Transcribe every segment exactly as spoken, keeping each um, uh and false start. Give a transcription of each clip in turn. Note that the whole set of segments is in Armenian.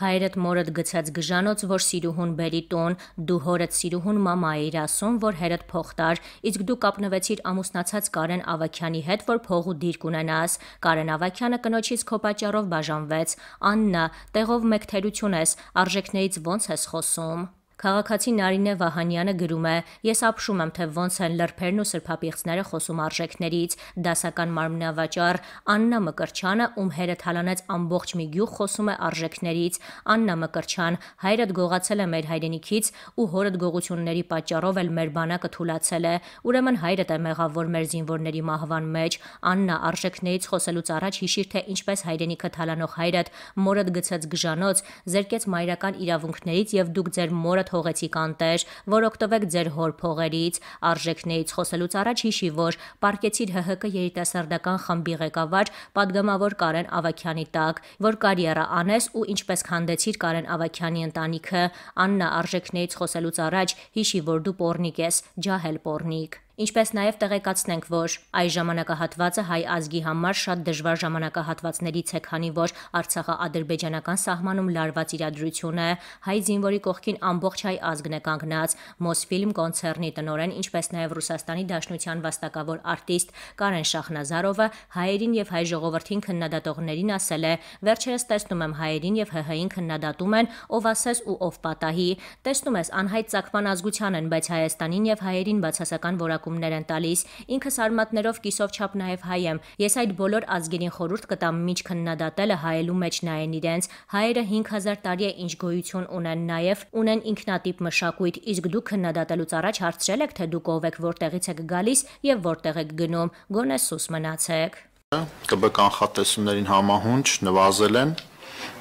Հայրդ մորդ գցած գժանոց, որ սիրուհուն բերի տուն, դու հորդ սիրուհուն մամա էիր ասում, որ հերդ փող տար, իսկ դու կապնվեցիր ամուսնացած Կարեն Ավագյանի հետ, որ փողու դիրք ունենաս։ Կարեն Ավագյանը կնոջից քո պատճառով բաժանվեց։ Աննա, տեղով մեկ թերություն ես, արժեքներից ո՞նց ես խոսում։ Քաղաքացի Նարինե Վահանյանը գրում է. Ես ապշում եմ, թե ոնց են լրբերն ու սրբապիղծները խոսում արժեքներից, դասական մարմնավաճառ Աննա Մկրչյանը, ում հերը թալանեց ամբողջ մի գյուղ, խոսում է արժեքներից։ Աննա Մկրչյան, հայրդ գողացել է մեր հայրենիքից ու հորդ գողությունների պատճառով էլ մեր բանակը թուլացել է, ուրեմն հայրդ է մեղավոր մեր զինվորների մահվան մեջ։ Աննա, արժեքներից խոսելուց առաջ հիշիր, թե ինչպես հայրենիքը թալանող հայրդ մորդ գցած գժանոց զերկեց մայրական իրավունքներից եւ դուք ձեր մորդ հողեցիք անտեր, որ օգտվեք ձեր հոր փողերից։ Արժեքներից խոսելուց առաջ հիշի, որ պարկեցիր ՀՀԿ երիտասարդական խմբի ղեկավար պատգամավոր Կարեն Ավագյանի տակ, որ կարիերա անես ու ինչպես քանդեցիր Կարեն Ավագյանի ընտանիքը։ Աննա, արժեքներից խոսելուց առաջ հիշի, որ դու պոռնիկ ես, ջահել պոռնիկ։ Ինչպես նաև տեղեկացնենք, որ այս ժամանակահատվածը հայ ազգի համար շատ դժվար ժամանակահատվածներից է, քանի որ Արցախա-ադրբեջանական սահմանում լարված իրադրություն է, հայ զինվորի կողքին ամբողջ հայ ազգն է կանգնած։ Մոսֆիլմ կոնցեռնի տնօրեն, ինչպես նաև Ռուսաստանի Դաշնության վաստակավոր արտիստ Կարեն Շախնազարովը հայերին եւ հայ ժողովրդին քննադատողներին ասել է. «Վերջերս տեսնում եմ հայերին եւ ՀՀ-ին քննադատում են, ով ասես ու ով պատահի։ Տեսնում ես, անհայտ ծագման ազգության են, բայց Հայաստանին եւ հայերին բացասական որակումներ են տալիս։ Ինքս արմատներով կիսով չափ նաև հայ եմ։ Ես այդ բոլոր ազգերին խորհուրդ կտամ միջ քննադատելը հայելու մեջ նայեն իրենց։ Հայերը հինգ հազար տարի է ինչ գոյություն ունեն, նաև ունեն ինքնատիպ մշակույթ, իսկ դուք քննադատելուց առաջ հարցրել եք, թե դուք ով եք, որտեղից եք գալիս եւ որտեղ եք գնում։ Գոնե սուս մնացեք»։ ԿԲ կանխատեսումներին համահունչ նվազել են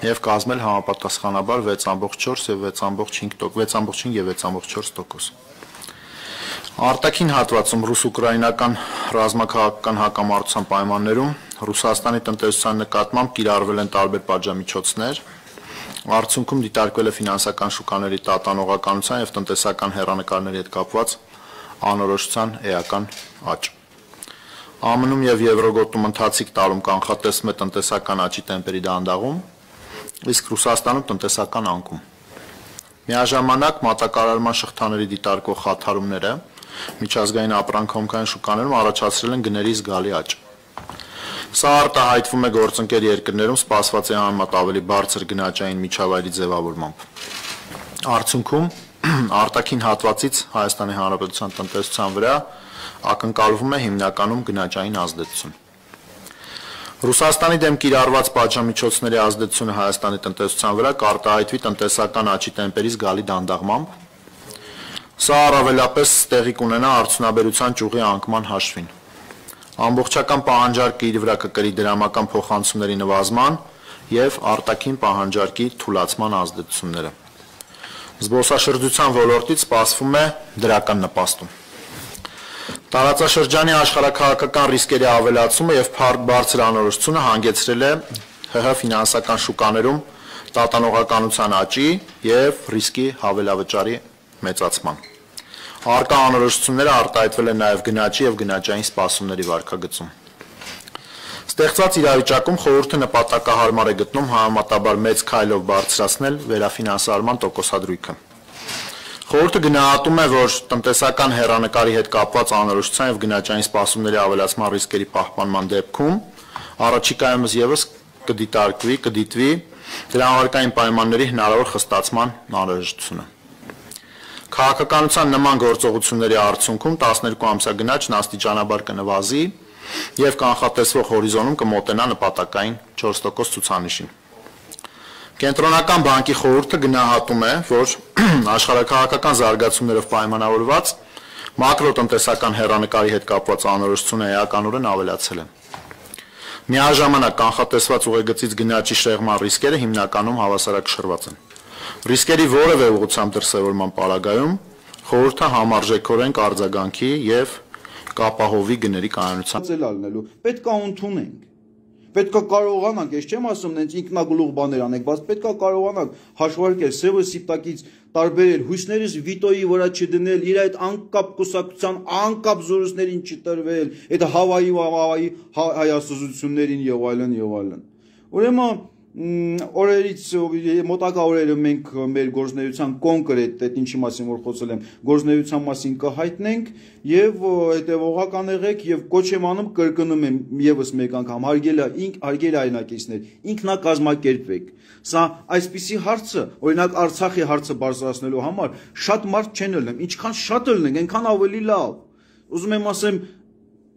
եւ կազմել համապատասխանաբար վեց ամբողջ չորս եւ վեց ամբողջ հինգ տոկոս, վեց ամբողջ հինգ եւ վեց ամբողջ չորս տոկոս։ Արտաքին հատվածում ռուս-ուկրաինական ռազմաքաղաքական հակամարտության պայմաններում Ռուսաստանի տնտեսության նկատմամբ կիրառվել են տարբեր պատժամիջոցներ, արդյունքում դիտարկվել է ֆինանսական շուկաների տատանողականության եւ տնտեսական հեռանկարների հետ կապված անորոշության էական աճ։ ԱՄՆ-ում եւ Եվրոգոտում ընթացիկ տարում կանխատեսվում է տնտեսական աճի տեմպերի դանդաղում, իսկ Ռուսաստանում տնտեսական անկում։ Միաժամանակ մատակարարման շղթաների դիտարկող խաթարումները միջազգային ապրանքահոմքային շուկաներում առաջացրել են գների զգալի աճ։ Սա արտահայտվում է գործընկեր երկրներում սպասվածի համեմատ ավելի բարձր գնաճային միջավայրի ձևավորմամբ։ Արդյունքում արտաքին հատվածից Հայաստանի Հանրապետության տնտեսության վրա ակնկալվում է հիմնականում գնաճային ազդեցություն։ Ռուսաստանի դեմ կիրառված պատժամիջոցների ազդեցությունը Հայաստանի տնտեսության վրա կարտահայտվի տնտեսական աճի տեմպերի զգալի դանդաղմամբ։ Սա առավելապես տեղի կունենա արդյունաբերության ճյուղի անկման հաշվին։ Ամբողջական պահանջարկը իր վրա կկրի դրամական փոխանցումների նվազման եւ արտաքին պահանջարկի թուլացման ազդեցությունները։ Զբոսաշրջության ոլորտից սպասվում է դրական նպաստում։ Տարածաշրջանի աշխարհաքաղաքական ռիսկերի ավելացումը եւ փառք բարձր անորոշությունը հանգեցրել է ՀՀ ֆինանսական շուկաներում տատանողականության աճի եւ ռիսկի հավելավճարի մեծացման։ Առկա անորոշությունները արտահայտվել են նաև գնաճի եւ գնաճային սպասումների վարկագծում։ Ստեղծված իրավիճակում խորհուրդը նպատակահարմար է գտնում համեմատաբար մեծ քայլով բարձրացնել վերաֆինանսավորման տոկոսադրույքը։ Խորհուրդը գնահատում է, որ տնտեսական հեռանկարի հետ կապված անորոշության եւ գնաճային սպասումների ավելացման ռիսկերի պահպանման դեպքում առաջիկայումս եւս կդիտարկվի, կդիտվի դրամարկային պայմանների հնարավոր խստացման անհրաժեշտությունը։ Քաղաքականության նման գործողությունների արդյունքում տասներկու ամսյա գնաճն աստիճանաբար կնվազի եւ կանխատեսվող հորիզոնում կմոտենա նպատակային չորս տոկոս ցուցանիշին։ Կենտրոնական բանկի խորհուրդը գնահատում է, որ աշխարհաքաղաքական զարգացումներով պայմանավորված մակրոտնտեսական հեռանկարի հետ կապված անորոշությունը էականորեն ավելացել է։ Միաժամանակ կանխատեսված ուղեգծից գնաճի շեղման ռիսկերը հիմնականում հավասարակշռված են։ Ռիսկերի որևէ ուղղությամբ դրսևորման պարագայում խորհուրդը համարժեքորեն կարձագանքի եւ կապահովի գների կայունության։ Պետք է ընդունենք։ Պետք է կարողանանք, ես չեմ ասում նենց ինքնագլուխ բաներ անենք, բայց պետք է կարողանանք հաշվարկել սևը սիպտակից տարբերել, հույսներս վիտոյի վրա չդնել, իր այդ անկապ կուսակցության անկապ զորույցներին չտրվել, այդ հավայի հավայի հայասուզություններին եւ այլն եւ այլն։ Ուրեմն օրերից մոտակա օրերը մենք մեր գործնեության կոնկրետ այդ ինչի մասին որ խոսել եմ գործնեության մասին կհայտնենք եւ հետեւողական եղեք եւ կոչ եմ անում կրկնում եմ եւս մեկ անգամ հարգելի հարգելի այնակիցներ ինքնակազմակերպեք սա այսպիսի հարցը օրինակ Արցախի հարցը բարձրացնելու համար շատ մարդ չեն ելնում ինչքան շատ ելնենք այնքան ավելի լավ ուզում եմ ասեմ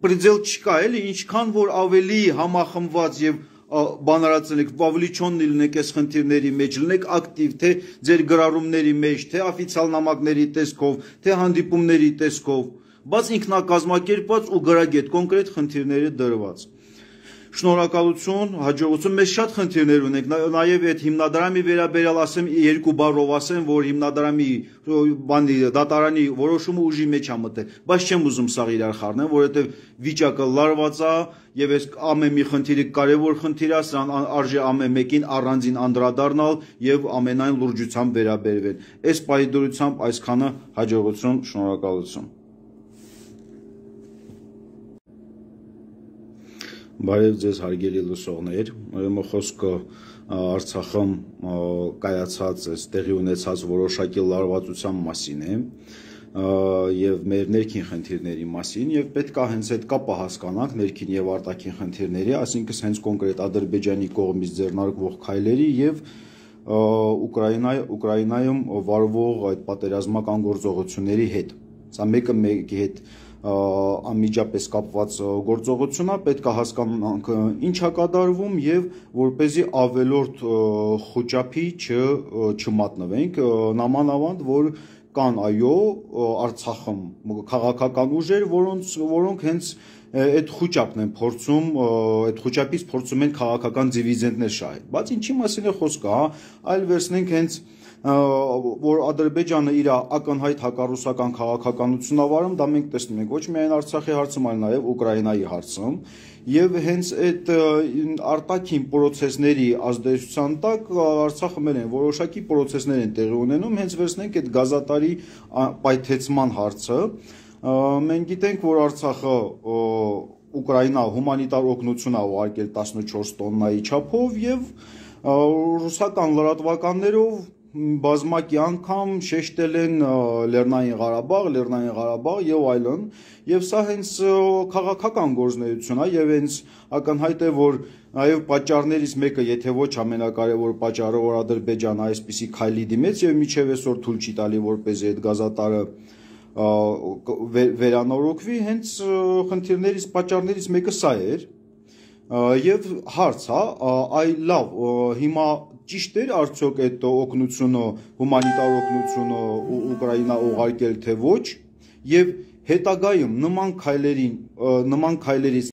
պրիդել չկա էլի ինչքան որ ավելի համախմբված եւ բանարացնեք, ավելի չոն լինեք այս խնդիրների մեջ, լինեք ակտիվ, թե ձեր գրառումների մեջ, թե օֆիցիալ նամակների տեսքով, թե հանդիպումների տեսքով, բայց ինքնակազմակերպված ու գրագետ կոնկրետ խնդիրները դրված։ Շնորհակալություն, հաջողություն, մեզ շատ խնդիրներ ունենք, նաև այդ հիմնադրամի վերաբերյալ ասեմ երկու բառով ասեմ, որ հիմնադրամի բանի դատարանի որոշումը ուժի մեջ է մտել, բայց չեմ ուզում սա իրար խառնեմ, որովհետև վիճակը լարված է եւ այս ամեն մի խնդիրը կարեւոր խնդիր է, սրան արժե ամեն մեկին առանձին անդրադառնալ եւ ամենայն լրջությամբ վերաբերվել։ Այս պայդորությամբ այսքանը հաջողություն, շնորհակալություն։ Բարև ձեզ հարգելի լսողներ, ուրեմն խոսքը Արցախում կայացած այս տեղի ունեցած որոշակի լարվածության մասին է եւ մեր ներքին խնդիրների մասին եւ պետք է հենց այդ կապը հասկանանք ներքին եւ արտաքին խնդիրների, այսինքն հենց կոնկրետ Ադրբեջանի կողմից ձեռնարկվող քայլերի եւ Ուկրաինա Ուկրաինայում վարվող այդ պատերազմական գործողությունների հետ։ Սա մեկը մեկի հետ անմիջապես կապված գործողություն է, պետք է հասկանանք ինչ է կատարվում եւ որպեսզի ավելորդ խոճապի չմատնվենք, նամանավանդ որ կան այո Արցախում քաղաքական ուժեր, որոնց որոնք հենց այդ խոճապն են փորձում, այդ խոճապից փորձում են քաղաքական դիվիդենդներ շահել։ Բայց ինչի մասին է խոսքը, հա, այլ վերցնենք հենց որ Ադրբեջանը իր ակնհայտ հակառուսական քաղաքականությունն է վարում, դա մենք տեսնում ենք ոչ միայն Արցախի հարցում, այլ նաև Ուկրաինայի հարցում, եւ հենց այդ արտաքին process-ների ազդեցության տակ Արցախը մեն են որոշակի process-ներ են տեղի ունենում, հենց վերցնենք այդ գազատարի պայթեցման հարցը, մենք գիտենք, որ Արցախը Ուկրաինա հումանիտար օգնություն է ուղարկել տասնչորս տոննայի չափով եւ ռուսական լրատվականներով բազմակի անգամ շեշտել են Լեռնային Ղարաբաղ, Լեռնային Ղարաբաղ եւ այլն, եւ սա հենց քաղաքական գործունեություն է եւ հենց ակնհայտ է, որ նաեւ պատճառներից մեկը, եթե ոչ ամենակարևոր պատճառը, որ Ադրբեջանը այսպիսի քայլի դիմեց եւ միջև այսօր թույլ չի տալի, որպեսզի այդ գազատարը վերանորոգվի, հենց խնդիրներից պատճառներից մեկը սա էր եւ հարց, հա, այ լավ, հիմա ճիշտ էր արդյոք այդ օգնությունը, հումանիտար օգնությունը Ուկրաինա ուղարկել թե ոչ եւ հետագայում նման քայլերին նման քայլերից